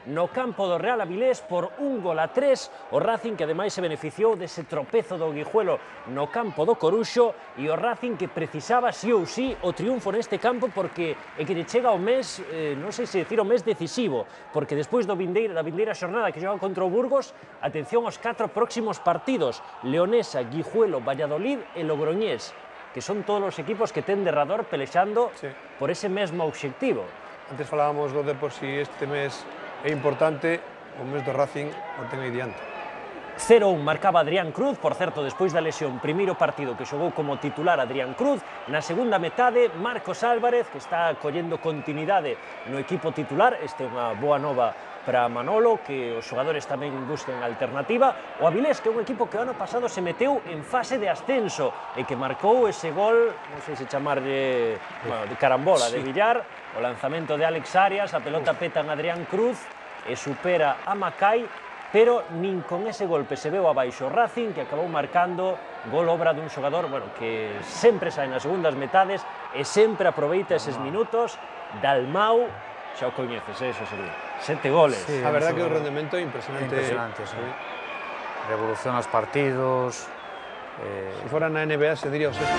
no campo do Real Avilés por 1-3, o Racing que ademais se beneficiou dese tropezo do Guijuelo no campo do Coruxo, e o Racing que precisaba sí ou sí o triunfo neste campo porque é que lle chega o mes, non sei se decir o mes decisivo, porque despois da vindeira xornada que xoga contra o Burgos, atención aos 4 próximos partidos: Leonesa, Guijuelo, Valladolid e Logroñés, que son todos os equipos que ten derrador pelexando por ese mesmo obxectivo. Antes falábamos do Depor, si este mes é importante, o mes do Racing o ten aí diante. 0-1 marcaba Adrián Cruz, por certo, despois da lesión, primeiro partido que xogou como titular Adrián Cruz. Na segunda metade, Marcos Álvarez, que está collendo continuidade no equipo titular. Este é unha boa nova para Manolo, que os xogadores tamén busquen alternativa. O Avilés, que é un equipo que o ano pasado se meteu en fase de ascenso e que marcou ese gol, non sei se chamarlle, bueno, de carambola, de Villar, o lanzamento de Alex Arias, a pelota peta en Adrián Cruz e supera a Macai, pero nin con ese golpe se veu abaixo o Racing, que acabou marcando gol obra dun xogador, bueno, que sempre sai nas segundas metades e sempre aproveita eses minutos. Dalmau, xa o coñeces, eso sería 7 goles. Sí, a verdad que o rendemento é impresionante. Impresionante, sí. Revoluciona os partidos. Se fora na NBA se diría o sexto.